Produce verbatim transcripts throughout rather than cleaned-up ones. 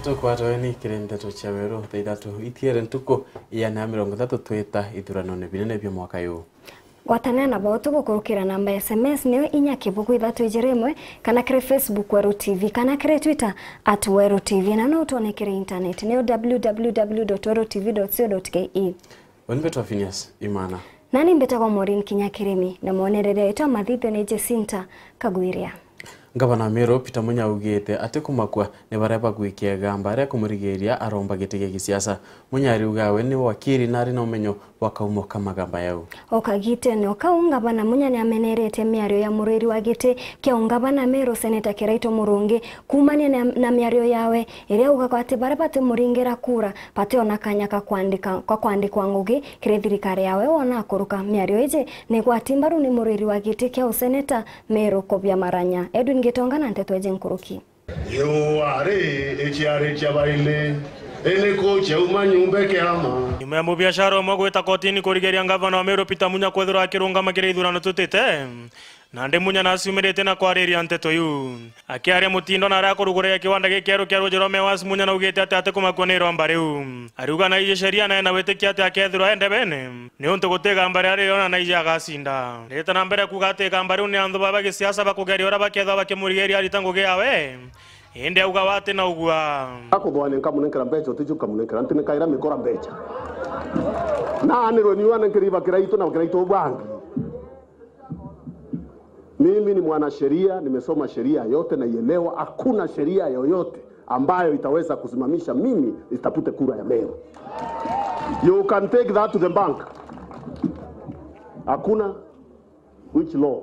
Tukwatweni kiri ndeto cia weru thaa ithatu itiere ntuku iana ya mirongo ithatu twita ithuranone binene bia mwaka uyu. Gwatanira na bao tugukurukira namba ya S M S niyo inya kibugu ithatu ijiri imwe, kana kiri Facebook Weru T V, kana kiri Twitter at Weru T V, na no utwone kiri internet niyo w w w dot weru t v dot co dot k e. Uni mbetwa Phineas Imana. Nani mbetagwa Maureen Kinya Kirimi, na mwonereria witwa mathithio ni Jacinta Kagwiria. Ngavana wa Meru Peter Munya augite ati kumakua ni baria bagwikia igamba ria kumurigiria aromba giti gia gisiasa. Munya ariuga we ni wakiri na ari na umenyo bwa kaumo ka magamba yau. O kagitene o kau, ngavana Munya ni amenerete miario ya murwiri wa giti kia ungavana Meru Seneta Kiraitu Murungi kuumania na, na miario yawe iria augaga ati baria batimuringira kura bationa kanya ka kwandika, ka kwandikwa ngugi kiri thirikari yawe wona akuruka. Miario iji ni igwati mbaru ni murwiri wa giti kia useneta Meru Kobia Maranya. Edwin Gitonga na nteto iji nkuruki. Iua ri iciarikia baili, iniku ciauma nyumba kiama. Nyuma ya mubiashara umwe gwita kotini kurigiria ngavana wa Meru Peter Munya kwithirwa akirungama kiri ithurano tutite, nandi Munya naciumiritie na kwariria nteto iu. Akiaria Mutindo na aria akuruguria kiwanda gikieru kia ruuji rwa Mewas, Munya naugite ati atikumakua ni iromba riu. Ariuga naiji sheria na ena witikia ati akethirwa e ndebene, niuntu guti igamba riria ririona naiji agacinda. Ndirite na mbere kuuga ati igamba riu ni anthu ba, ba gisiasa bakugeria uria bakethirwa bakimurigiria arita ngugi yawe, indi auga we ati na ugua. Akuthwania nkamunenkera mbeca, uticio nkamunenkera, nti nikaira mikora mbeca. Na anirwe niu anenkeri bakira itu na bakira itu bangi. Mimi ni mwanasheria, nimesoma sheria yote, naielewa. Hakuna sheria yoyote ambayo itaweza kusimamisha mimi nisitafute kura ya Meru. You can take that to the bank. Hakuna. Which law?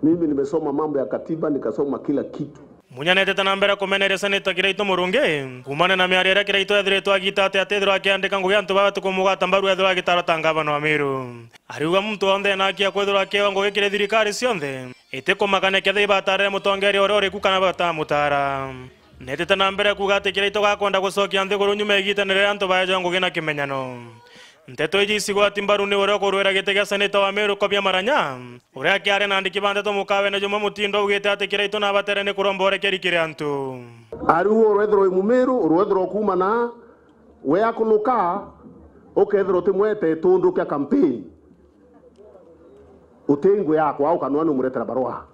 Mimi nimesoma mambo ya katiba, nikasoma kila kitu. Munya netete na mbere kumeneria Seneta Kiraitu Murungi kuumania na miario iria Kiraitu ethiritwe agita ati atithirwa akiandika ngugi antu baba tikumugwata mbaru ethirwa agitaro ta ngavana wa Meru. Ariuga muntu wonthe ena haki ya kwithirwa akiewa ngugi kiri thirikari cionthe, itikumakania kethira ibatarire mutongeria uria uriku kana batamutara. Netete na mbere kuuga ati Kiraitu gakwenda gucokia nthiguru nyuma igitene riria antu baejwa ngugi na kimenyano. Nteto iji icigwati mbaru ni uria ukurwira giti gia seneta wa Meru Kobia Maranya, uria akiaria na andiki ba nteto mukawene jumwe Mutindo augite ati Kiraitu nabatere ni kuromba urekeri kiri antu. Ariu urwethirwa wi Mumiru, urwethirwa ukuuma na we akuluka, ukethirwa utimwete itundu kia campaign. Uti ngui yakwa, ukanua ni umuretera barua.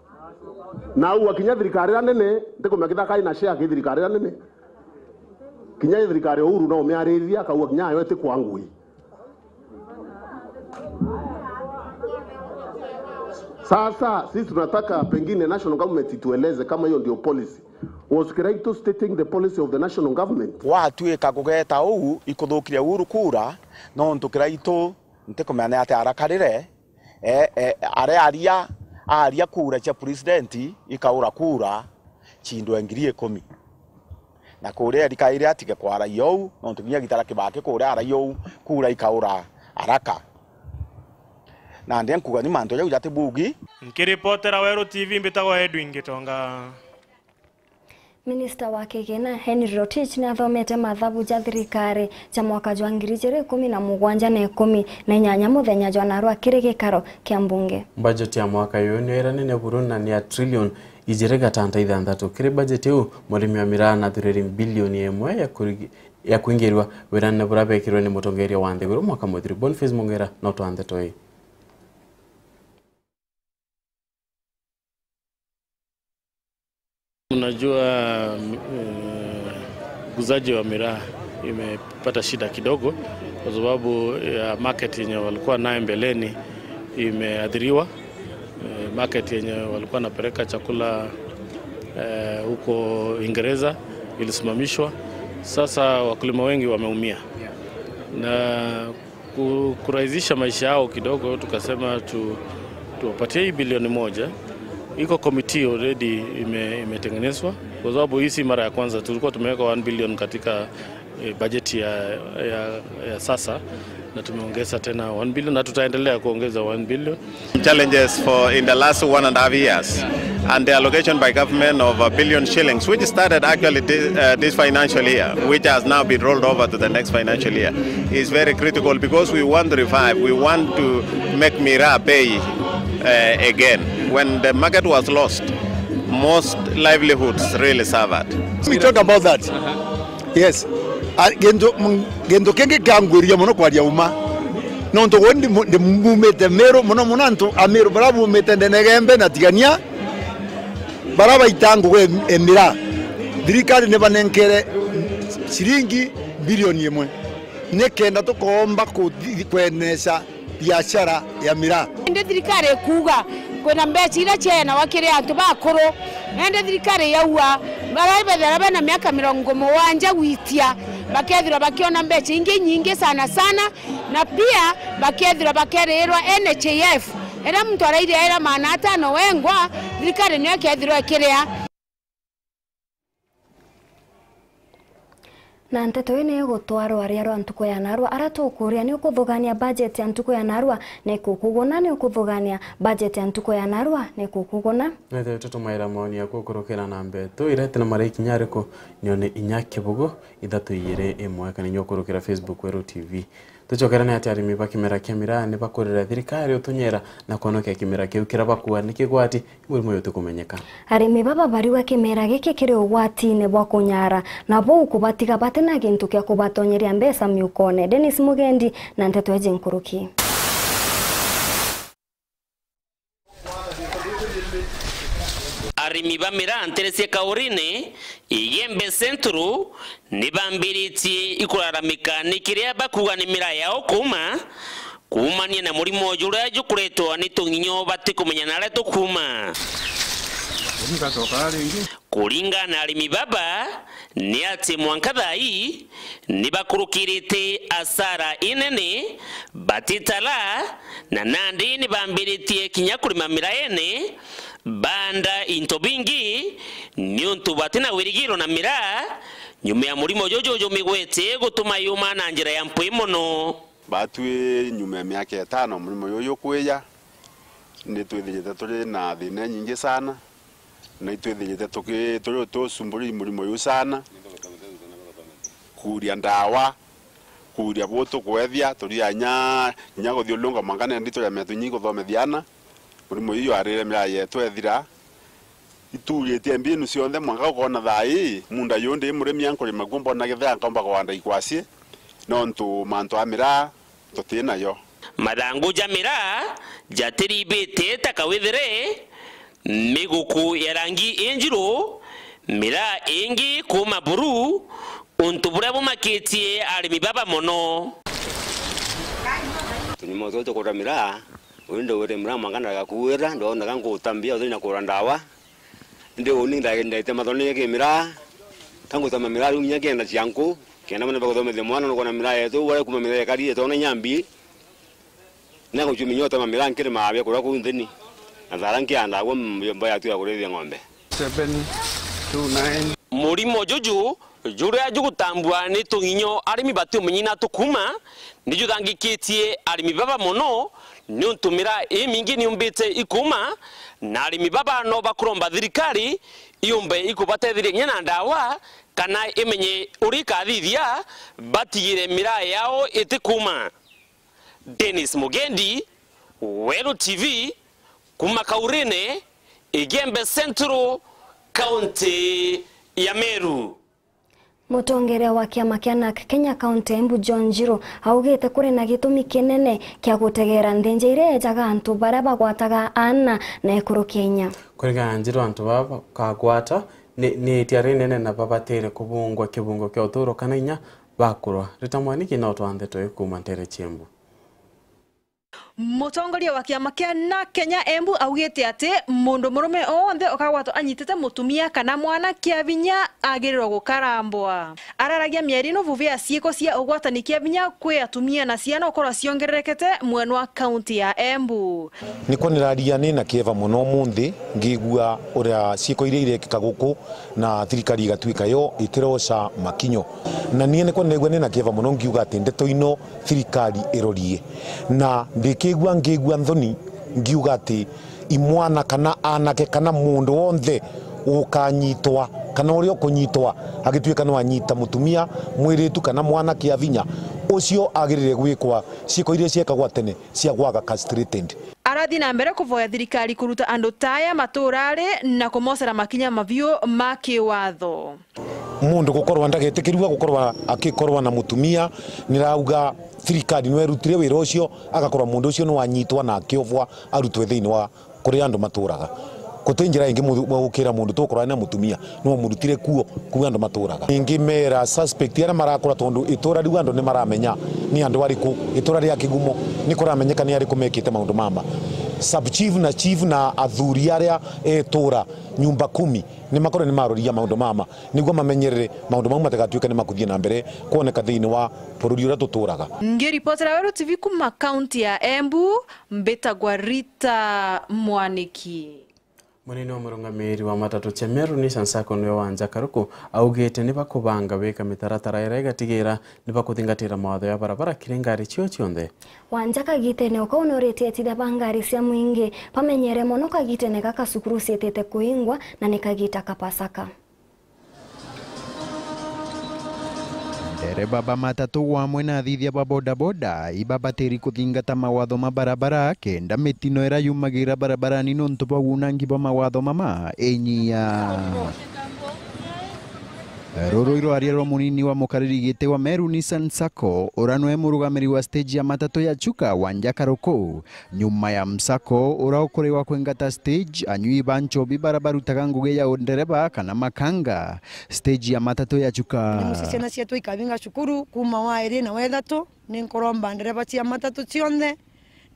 Na au akinya thirikari iria nene, ntikumenya kithaka ina share ki thirikari iria nene. Kinya thirikari ya Uhuru no umiaririria, akauga kinya ayo iti kwa ngui. Sasa sisi tunataka pengine national government itueleze kama hiyo ndio policy. Was Kiraitu stating the policy of the national government? Gwatuika kugeta uu ikuthukiria Uhuru kura, nontu Kiraitu ntikumenya ni atia arakarire, e, e, arearia, aaria kura cia president ikaura kura ciindwe ngiri ikumi. Na kuria erikaire atige kwaragia uu, nontu kinya gitara Kibaki kuria aragia uu, kura ikaura araka. Nandi nkuga ni mantu jau jati bugi. Nkiripotera Weru T V mbitagwa Edwin Gitonga. Minista wa kigina Henry Rotich ni athomete mathabu ja thirikari ja mwaka jwa ngiri ijiri ikumi na mugwanja na ikumi na inyanya muthenya jwa narua kiri gikaro kia mbunge. Bajeti ya mwaka uyu niyo iranene buru na ni ya trilioni ijiri gatanta ithanthatu. Kiri bajeti iu, murimi wa miraa nathuriri bilioni imwe ya kurigi-, ya kwingirwa wirane buria bekirwe ni mutongeria wa nthiguru mwaka muthiru. Boniface Mungera na utwa ndeto ii. Unajua, eh, uguzaji wa miraa imepata shida kidogo kwa sababu ya market yenye walikuwa naye mbeleni imeathiriwa. Eh, market yenye walikuwa wanapeleka chakula, eh, huko Uingereza ilisimamishwa. Sasa wakulima wengi wameumia. Na ku-, kurahisisha maisha yao kidogo, tukasema tu-, tuwapatie hii bilioni moja. Iko committee already ime-, imetengenezwa, kwa sababu hii si mara ya kwanza. Tulikuwa tumeweka one billion katika, eh, budget ya, ya, ya sasa, na tumeongeza tena one billion, na tutaendelea kuongeza one billion. Challenges for in the last one and a half years, and the allocation by government of a billion shillings, which started actually thi-, uh, this financial year, which has now been rolled over to the next financial year, is very critical because we want to revive, we want to make miraa pay, uh, again. When the market was lost, Most livelihoods really suffered. We talk about that. Yes. A, gintu, m-, gintu kingi kiangwiria mono kwaria uma. Nontu gwe ndi mu-, ndi mumite Miru, mono mono antu a Miru bara bumite Ndenegembe na Tigania, bara baita ngugi e, e miraa. Thirikari ni banenkere ciringi bilioni imwe. Nikenda tukoomba kuthi-, kwenesha biashara ya miraa. Indi thirikari ikuuga kwina mbeca iria ciaenawa kiri antu bakuru, na indi thirikari yaua bara bethira bena miaka mirongo mugwanja gwitia bakethirwa bakiona mbeca ingi nyingi sana sana, na pia bakethirwa bakeriirwa N H I F, iria muntu arairia ira maana atano wengwa, thirikari niyo ikethirwa ikiria. Na nteto ii ni igutwarwa ria rwa ntuku ya narua, ara tukuria ni ukuthugania budget ya ntuku ya narua ni kukuguna, ni ukuthugania budget ya ntuku ya narua ni kukuguna. Nethire tutumaira maoni yaku ukurukira namba itu iria iti na marai kinya ariku, nione inya kibugu ithatu igiri imwe, kana inya ukurukira Facebook Weru T V. Tucokere ni ati arimi ba kimera kia miraa ni bakurira thirikari utunyera na kwonokia kimera kiu kiria bakua ni kigwati murimo uyu utikumenyeka. Arimi baba bariuga kimera giki kiri ugwatine bwa kunyara, na buu kubatiga bati na gintu kia kubatonyeria mbeca miukone. Dennis Mugendi na nteto iji nkuruki. Arimi ba miraa ntere cia Kaurine, Igembe Central, ni bambiritie ikuraramika ni kiria bakuuga ni miraa yao kuuma, kuumania na murimo juria jukuretwa ni tung'inyo batikumenya naria tukuuma. Kuringana na arimi baba, ni ati mwanka thaa ii ni bakurukirite asara inene, batitara, na nandi ni bambiritie kinya kurima miraene, baanda into bingi, niuntu bati na wirigiro na miraa, nyuma ya murimo juju jumigwete gutuma yuma na njira ya mpwi mono. Batwi nyuma ya miaka itano murimo juju jukwija, ni twithirite turi na thina nyingi sana, na itwithirite tuki-, turi tusumburi murimo juu sana. Kuuria ndawa, kuuria bu tukwethia, turia inya, inya kuthiurunka mwanka nandi turia miatu nyingi kuthomethia ana. Murimo juu jwarire miraa yetu ethira. Ituritie mbinu cionthe mwanka ukoona thaa ii, munda juu ndi murimi ankurima kuo mbona githea nkaumba kuanda ikwasi, nontu mantu a miraa tuti nayo. Mathangu ja miraa jatiribite ta kawithire, miguku ya rangi injiru, miraa ingi kuuma buru, untu buria bumakitie arimi baba mono. Tunyuma tuo tukura miraa, uyu ndugwire miraa mwanka ndagakuira, ndoneka ngutambia uthiri na kura ndawa. Indi uni ndaite mathone ki miraa, ka ngutama miraa riu nginya kienda cia nku, kenda mwana bakuthomethia mwana nukona miraa yetu, wale kuma miraa ikari etona nyambi, na gucumia nyo utama miraa nkiri maabia kuria kuu nthini, na thara nkianda agwo mbo yatu ya kurithia ng'ombe. Seven two nine. Murimo juju juria jugutambua ni tung'inyo arimi batiumenyi na tukuuma, ni juthangikitie arimi baba mono, niuntu miraa imingi niumbite ikuuma, na arimi baba no bakuromba thirikari iumbe ikubatetheria kinya na ndawa, kana imenye uria ikathithia batigire miraa yao itikuuma. Dennis Mugendi, Weru T V, kuuma Kaurine, Igembe Central, kaunti ya Meru. Mutongeria wa kiama kia NARC Kenya kaunti ya Embu, John Njiru, augite kuri na gitumi kinene kia gutegera nthinja iria ejaga antu baria bagwataga aana na ekuru Kenya. Kuringana na Njiru, antu baba bakagwata ni, ni itia rinene na babatire kubungwa kibungo kia uturo kana inya bakurwa. Rita Mwaniki na utwa ndeto ii kuuma ntere cia Embu. Mutongoria wa kiama kia NARC Kenya Embu augite ati mundu murume o wonthe ukagwatwa anyitite mutumia kana mwana kia vinya agirirwa gukarambwa. Araragia mieri ino vuvi ya ciiko cia ugwatani kia vinya kwi atumia na ciana ukorwa ciongererekete mwena wa kaunti ya Embu. Nikwo niraria ni na kieva mono umunthi ngigua uria ciiko iria irekika guku na thirikari igatuika yo itiroca makinyo. Na nie nikwo niraigua ni na kieva mono ngiuga ati ndeto ino thirikari irorie. Na ndikigua ngigua nthoni ngiuga ati imwana kana anake kana mundu wonthe ukanyitwa kana uria ukunyitwa agituika no anyita mutumia, mwiritu kana mwana kia vinya, ucio agirire gwikwa ciiko iria ciekagwa tene cia gwaga castrated. Arathi na mbere kuvoya thirikari kuruta andu ta aya matura ari na kumocera makinya mabiu ma kiwatho. Mundu gukorwa ndagetikirua gukorwa akikorwa na mutumia, nirauga thirikari niwe erutire wira ucio, agakorwa mundu ucio niwanyitwa na akiovwa arutwe thiini wa kuria andu maturaga. Guti njira ingi mu-, gukira mundu tukorwa na mutumia, niwe umurutire kuo kuu andu maturaga. Ningi mera suspect aria marakura, tondu itura riu andu nimaramenya ni andu ariku, itura ria Kigumo nikuramenyeka ni ariku mekite maundu mama. Sub chief na chief na athuri aria etura nyumba kumi nimakorwe nimaroriria maundu mama, niguo mamenyerere maundu mau matigatuike ni makuthie na mbere kwoneka thiini wa bururi uria tuturaga. Ngiripotera Weru T V kuma kaunti ya Embu, mbitagwa Rita Mwaniki. Munini wa murungamiri wa matatu cia Meru Nissan Sacco niwe Wanja Karuku augite ni bakubanga wika mitaratara iria igatigira ni bakuthingatira mawatho ya barabara kiri ngari cio cionthe. Wanja kagitene o kau noritie etithia ba ngari cia mwingi bamenyere mono kagitene gaka cukuru ciitite kuingwa na ni kagita ka Pasaka. Ndereba ba matatu wamwe na athithia ba bodaboda ibabatiri kuthingata mawatho ma barabara kenda mitino iria yumagira barabarani nontu bwa wunangi bwa mawatho mama inyia. Ruru irwaria rwa munini wa mukariri giti wa Meru Nissan Sacco, uria nwe murugamiri wa stage ya matatu ya Chuka, Wanja Karuku, nyuma ya msako uria ukuriwa kwingata stage, anyui ba nchobi baria barutaga ngugi ya undereba kana makanga stage ya matatu ya Chuka. Ni mucii ciana cietu ikabinga cukuru kuuma wa iri na wa ithatu. Ni nkuromba ndereba cia matatu cionthe,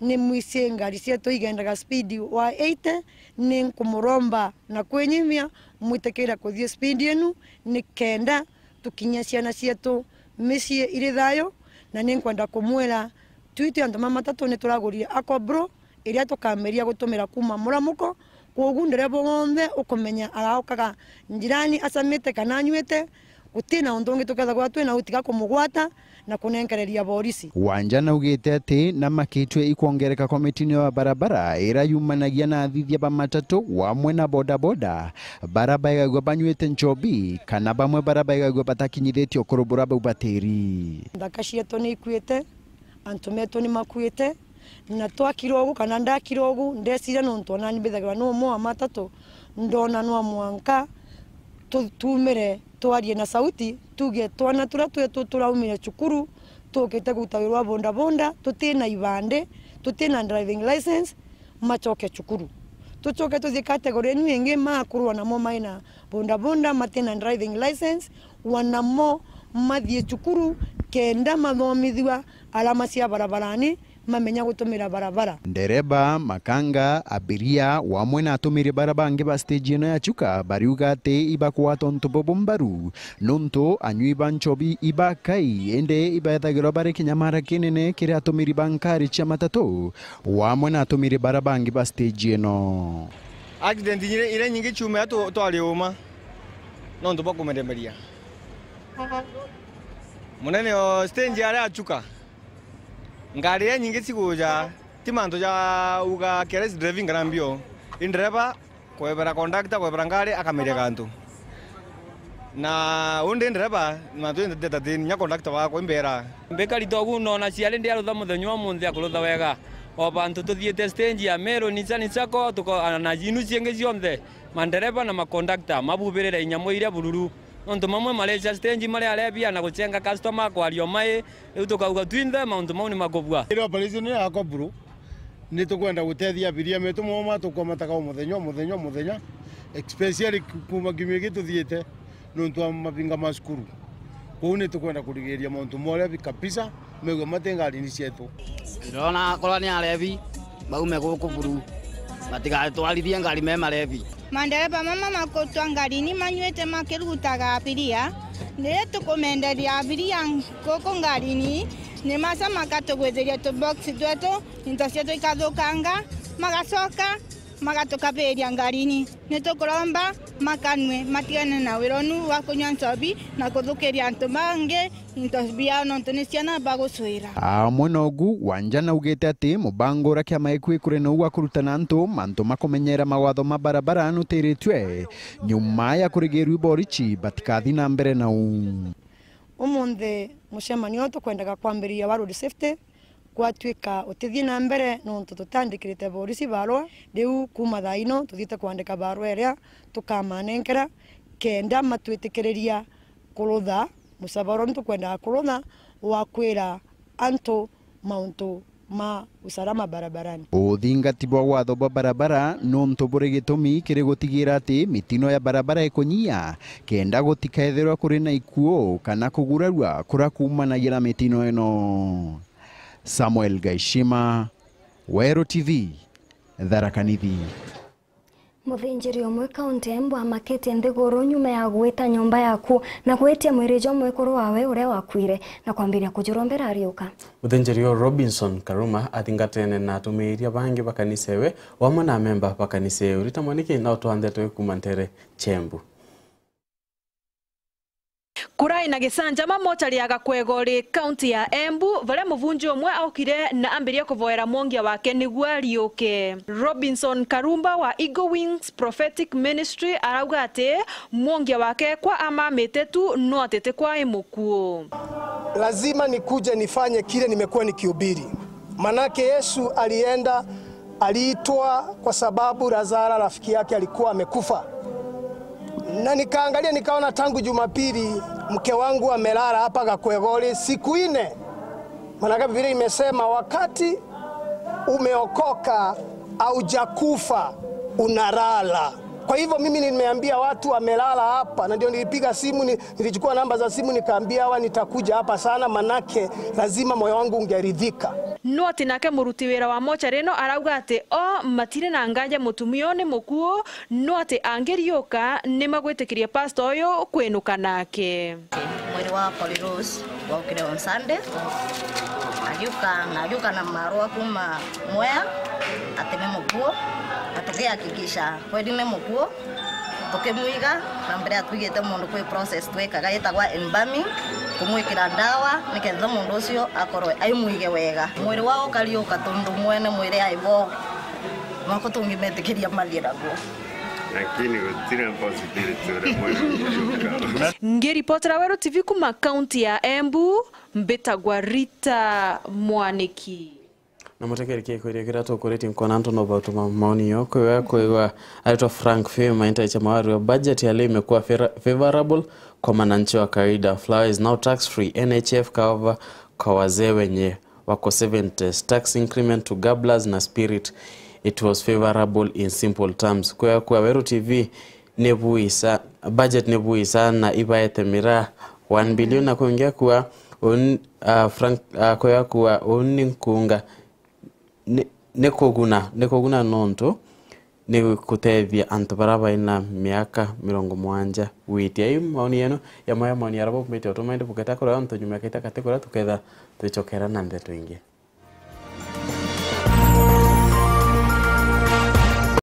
ni mwicie ngari cietu igendaga speed wa eighty, ni nkumuromba na kwinyimia mwitikire kuthii speed inu, ni kenda tukinyia ciana cietu micii iri thayu, na ni nkwenda kumwira, twi twi antu ma matatu ni turagurire Akobro iria tukaambiria gutumira kuuma muramuko. Kwogu ndereba wonthe ukumenya araukaga njirani acamite kana anyuite, guti na untu ungi tukethagwa twi nau tiga kumugwata na kunenkereria borisi. Wanja naugite ati namakitue ikwongereka kwa mitino ya barabara iria yumanagia na athithia ba matatu wamwe na bodaboda, bara baigagua banyuite nchobi, kana bamwe bara baigagua batakinyithitie ukuru buria baubatiri. Nthaka cietu ni ikuite, antu metu ni makuite, na twakira ugu kana ndakira ugu, ndeciria nontu onani mbithagirwa ni umwe wa matatu, ndona nwa mwanka tu-, tumire twarie na sauti, tuge twana turia twetu turaumire cukuru, tukite kuruta wira wa bodaboda, tutina ibandi, tutina driving license, macoke cukuru. Tucoke tuthie category inu ingi, makurwa namo mai na bodaboda, matina driving license, wanamo mathie cukuru kenda mathomithua alama cia barabarani, mamenya gutumira barabara. Ndereba, makanga, abiria, wamwe na atumiri bara bangi ba stage ino ya Chuka bariuga ati ibakugwata untu bubu mbaru, nontu anyui ba nchobi ibakai, indi ibethagirwa bari kinyamara kinene kiri atumiri ba nkari cia matatu, wamwe na atumiri bara bangi ba stage ino. Accident iria, iria nyingi ciumaga tu-, twari uma nontu bwa kumeremeria. Munene o stage aria achuka. Ngari iria nyingi ciguja, ti mantu ja uga careless driving kana mbio. I ndereba kwebera conductor, kwebera ngari, akamiria gantu. Na undi ndereba, mantu indi ndeta ti nya conductor wakwa imbera. Mbikari togu nona ciari ndiarutha muthenya umunthi akurutha wega. O bantu tuthiite stage ya Meru, Nissan Sacco, tuko-, na inu ciingi cionthe, mandereba na makondakta mabubirire inyamu iria bururu. Nontu mamwe marecha stage mari arebia na guchenga customer kwaria o mai, riu tukauga twinthe mauntu mau ni makubua. Iri operation ya Cobra, ni tukwenda gutethia abiria metu mama tukwamataga o muthenya, o muthenya, o muthenya, especially ku-, kuuma kiumia giki tuthiite nontu wa mabinga ma cukuru. Kwou ni tukwenda kurigiria mauntu moria bi kabisa, megwe mati ngarini cietu. Ndona akorwa ni arebi, baume guku buru, batigatwarithie ngari me marebi. Mandereba mama makutwa ngarini manyuite makirugutaga abiria. Riria tukumenderia abiria guku ngarini, ni maca makatugwithiria tubox twetu, into cietu ikathukanga, magacoka magatukabiria ngarini. Ni tukuromba makanue, matigane na wira unu wa kunyua nchobi na kuthukiria antu bangi into biao, nontu ni ciana bagucwira. Amwe nogu, Wanja naugite ati mubango uria kiama gikui kuri nou wa kurutana antu mantu makumenyera mawatho ma barabara nutiritue nyuma ya kurigirua iborichi batikathi na mbere nau. Umunthi mucemanio uyu tukwendaga kwambiriria wa road safety, Gwatuika utithii na mbere nontu tutandikirite borisi barua, riu kuuma thaa ino tuthiite kwandika barua iria tukamaanenkera kenda matwitikiriria kurutha mucaba uria nitukwenda kurutha wa kwira antu mauntu ma usalama barabarani. Uthingati bwa watho bwa barabara nontu buri gitumi kiri gutigira ati mitino ya barabara ikunyia, kenda gutikaethirwa kuri na ikuo kana kugurarua kuria kuumanagia na mitino ino. Samuel Gaishima, Weru T V, Tharaka Nithi. Muthinjiri umwe kaunti ya Embu amakitie nthiguru nyuma ya gwita nyomba yaku na gwitia mwiri jwa mwekuru wawe uria wakuire na kwambiria kujurombera ariuka. Muthinjiri uyu Robinson Karuma athingatene na atumiiria bangi ba kanisa iwe, wamwe na amemba ba kanisa iu. Rita Mwaniki na utwanthe twi kuuma ntere cia Embu. Kurai na gicanjama mochari ya Gakwegori, kaunti ya Embu, varia muvunji umwe aukire na ambiria kuvoera mwongia wake niguo ariuke. Robinson Karumba wa Eagle Wings Prophetic Ministry arauga ati mwongia wake kwa amamite tu, no ati ti kwa i mukuu. Lazima nikuje nifanye kile nimekuwa nikihubiri. Manake Yesu alienda, aliitwa kwa sababu Lazara rafiki yake alikuwa amekufa. Na nikaangalia nikaona tangu Jumapili mke wangu amelala hapa Gakwegori siku nne. Maana Biblia imesema wakati umeokoka, haujakufa, unalala. Kwa hivyo mimi nimeambia watu amelala hapa, na ndio nilipiga simu ni, nilichukua namba za simu nikaambia hawa nitakuja hapa sana, manake lazima moyo wangu ungeridhika. No ati nake muruti wira wa mochari ino arauga ati o matiri na nganja mutumia uyu ni mukuu, no ati angiriuka ni magwitikiria pastor uyu kwinuka nake. Mwiri wa Polly Rose waukire on Sunday, agiuka, na agiuka na marua kuma Mwea ati ni mukuu, na tukihakikisha kweli ni mukuu. Tukimwiga, na mbere ya twigite mundu kwi process twikaga yitagwa embalming, kumwikira ndawa niketha mundu ucio akorwe aimwige wega. Mwiri wao ukariuka tondu mwene mwiri aibo, noko tungimetikiria mathira guo. Lakini gutiri possibility uria mwiri ukariuka. Ngiripotera Weru T V kuma kaunti ya Embu, mbitagwa Rita Mwaniki. Na mutekereke kwiria kiria tukuritie nkona antu no bautuma maoni yo kwiwa kwigwa aitwa Frank Fim aintaisha mawari wa budget ya leo imekuwa fera-, favorable kwa mwananchi wa kawaida. Flour is now tax free, N H F cover kwa wazee wenye wako seventies, tax increment to gabblers na spirit, it was favorable in simple terms. Kwigwa kwa Weru T V ni buisa, budget ni buisa na ibaete miraa one billion na kwingia kwa un-, ah, Frank, ah, kwigwa kwa uni nkunga ni, ni kuguna, ni kuguna nontu ni gutethia antu baria baina miaka mirongo mugwanja gwitia. Iu maoni yenu ya maya maoni aria baumite utumende buketa kuria antu nyuma ya kaita kati kuria tuketha twicokera na ndeto ingi.